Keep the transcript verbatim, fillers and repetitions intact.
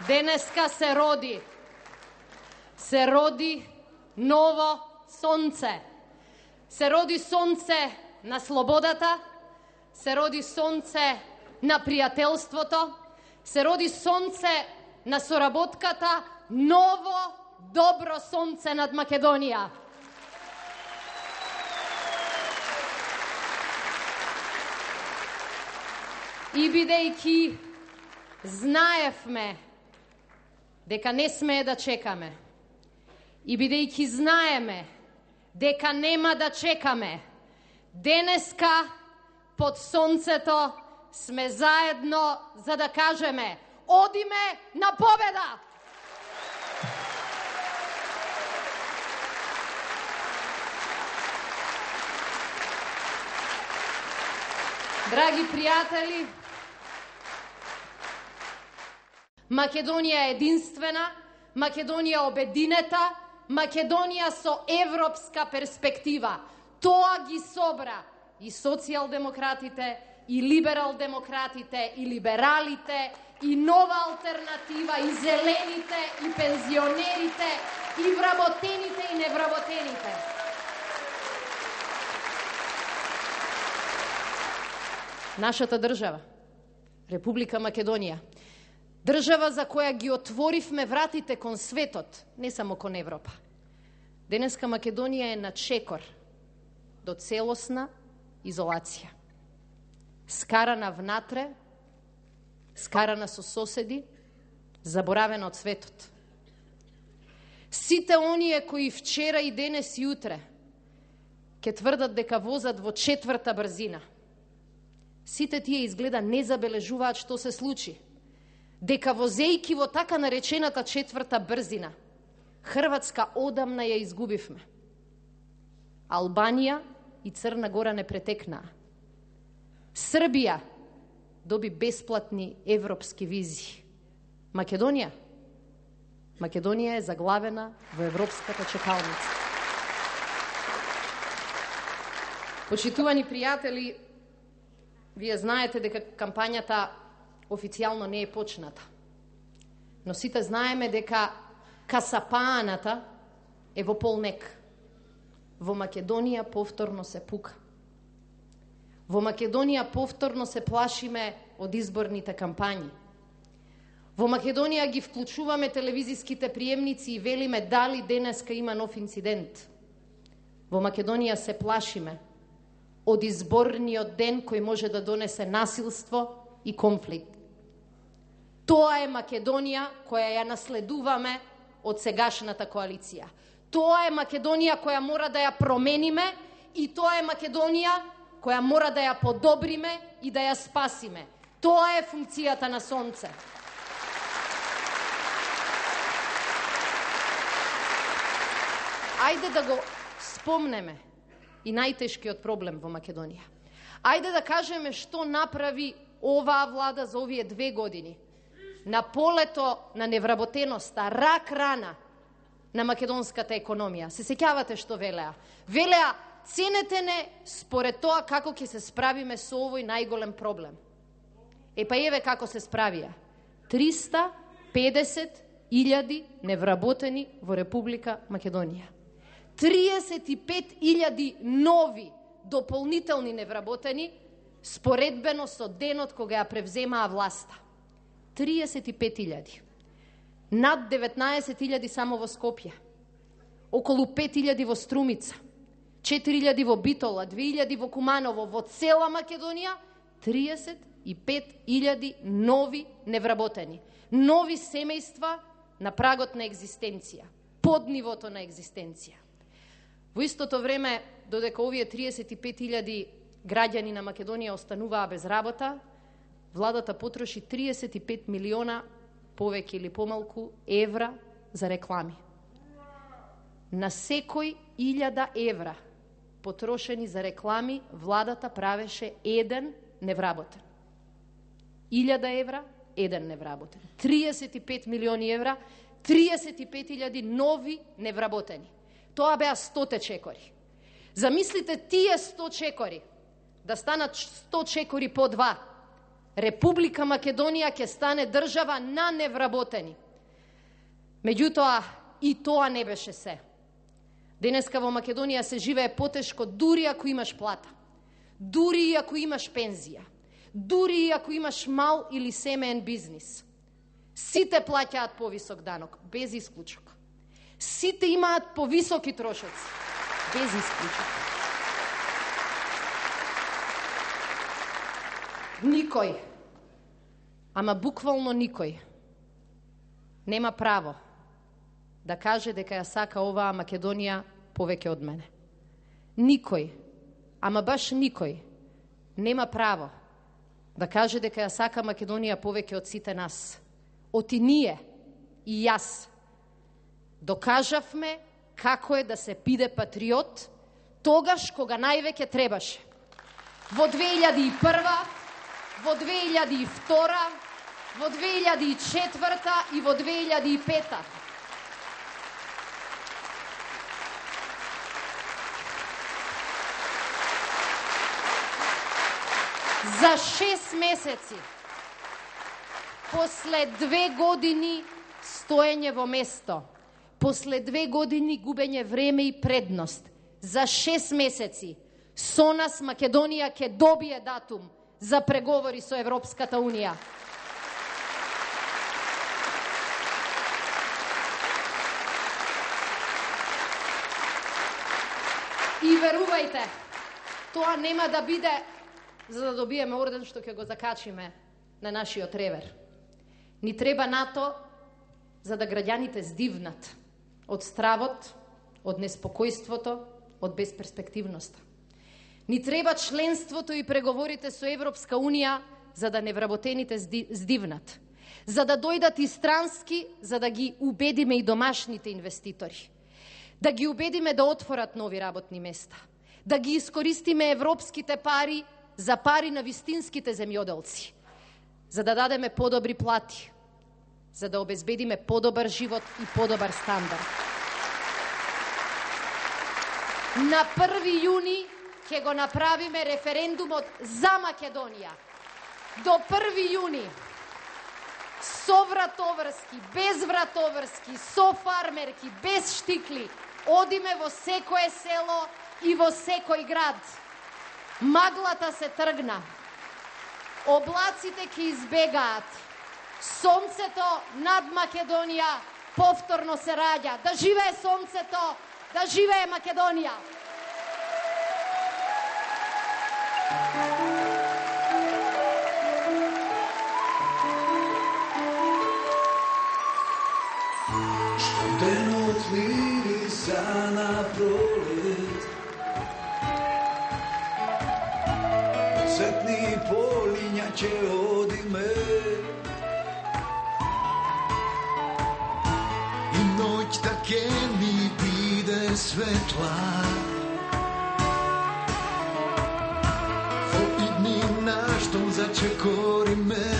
Денеска се роди. Се роди ново сонце. Се роди сонце на слободата, се роди сонце на пријателството, се роди сонце на соработката, ново, добро сонце над Македонија. И бидејќи знаевме дека не смее да чекаме, и бидејќи знаеме дека нема да чекаме, денеска под сонцето сме заедно за да кажеме: одиме на победа! Драги пријатели, Македонија е единствена, Македонија обединета, Македонија со европска перспектива. Тоа ги собра и социјалдемократите, и либерал-демократите, и либералите, и нова алтернатива, и зелените, и пензионерите, и вработените, и невработените. Нашата држава, Република Македонија, држава за која ги отворивме вратите кон светот, не само кон Европа. Денеска Македонија е на чекор до целосна изолација. Скарана внатре, скарана со соседи, заборавена од светот. Сите оние кои вчера и денес и утре ќе тврдат дека возат во четврта брзина, сите тие изгледа не забележуваат што се случи. Дека возејки во така наречената четврта брзина, Хрватска одамна ја изгубивме. Албанија и Црна Гора не претекнаа. Србија доби бесплатни европски визи. Македонија? Македонија е заглавена во европската чекалница. Почитувани пријатели, вие знаете дека кампањата официјално не е почната. Но сите знаеме дека касапааната е во полмек. Во Македонија повторно се пука. Во Македонија повторно се плашиме од изборните кампањи. Во Македонија ги вклучуваме телевизиските приемници и велиме дали денеска има нов инцидент. Во Македонија се плашиме од изборниот ден кој може да донесе насилство и конфликт. Тоа е Македонија која ја наследуваме од сегашната коалиција. Тоа е Македонија која мора да ја промениме и тоа е Македонија која мора да ја подобриме и да ја спасиме. Тоа е функцијата на сонце. Ајде да го спомнеме и најтешкиот проблем во Македонија. Ајде да кажеме што направи оваа влада за овие две години. На полето на невработеноста, рак рана на македонската економија. Се сеќавате што велеа? Велеа, ценете не според тоа како ќе се справиме со овој најголем проблем. Е па еве како се справија. триста педесет илјади невработени во Република Македонија. триесет и пет илјади нови дополнителни невработени споредбено со денот кога ја превземаа власта. триесет и пет илјади. Над деветнаесет илјади само во Скопје. Околу пет илјади во Струмица. четири илјади во Битола, две илјади во Куманово, во цела Македонија триесет и пет илјади нови невработени. Нови семејства на прагот на екзистенција, под нивото на екзистенција. Во истото време, додека овие триесет и пет илјади граѓани на Македонија остануваа без работа, владата потроши триесет и пет милиона повеќе или помалку евра за реклами. На секој илјада евра потрошени за реклами, владата правеше еден невработен. Илјада евра, еден невработен. триесет и пет милиони евра, триесет и пет илјади нови невработени. Тоа беа сто чекори. Замислите тие сто чекори да станат сто чекори по два. Република Македонија ќе стане држава на невработени. Меѓутоа, и тоа не беше се. Денеска во Македонија се живее потешко дури ако имаш плата, дури и ако имаш пензија, дури и ако имаш мал или семеен бизнис. Сите плаќаат повисок данок, без исклучок. Сите имаат повисоки трошоци, без исклучок. Никој, ама буквално никој, нема право да каже дека ја сака оваа Македонија повеќе од мене. Никој, ама баш никој, нема право да каже дека ја сака Македонија повеќе од сите нас. Оти ние и јас докажавме како е да се биде патриот тогаш кога највеќе требаше. Во две илјади и прва, во две илјади и втора, во две илјади и четврта и во две илјади и пета. За шест месеци, после две години стоење во место, после две години губење време и предност, за шест месеци со нас Македонија ќе добие датум за преговори со Европската Унија. И верувајте, тоа нема да биде за да добиеме орден што ќе го закачиме на нашиот ревер. Ни треба НАТО за да граѓаните здивнат од стравот, од неспокојството, од безперспективноста. Ни треба членството и преговорите со Европска Унија за да невработените здивнат, за да дојдат и странски, за да ги убедиме и домашните инвеститори, да ги убедиме да отворат нови работни места, да ги искористиме европските пари за пари на вистинските земјоделци, за да дадеме подобри плати, за да обезбедиме подобар живот и подобар стандард. На први јуни ќе го направиме референдумот за Македонија. До први јуни со вратоврски, без вратоврски, со фармерки, без штикли, одиме во секое село и во секој град. Маглата се тргна, облаците ќе избегаат, сонцето над Македонија повторно се раѓа. Да живее сонцето, да живее Македонија! Денот мириса на пролет, цветни полиња ќе одиме, и ноќта ќе ни биде светла. Во идни наштом зачекориме,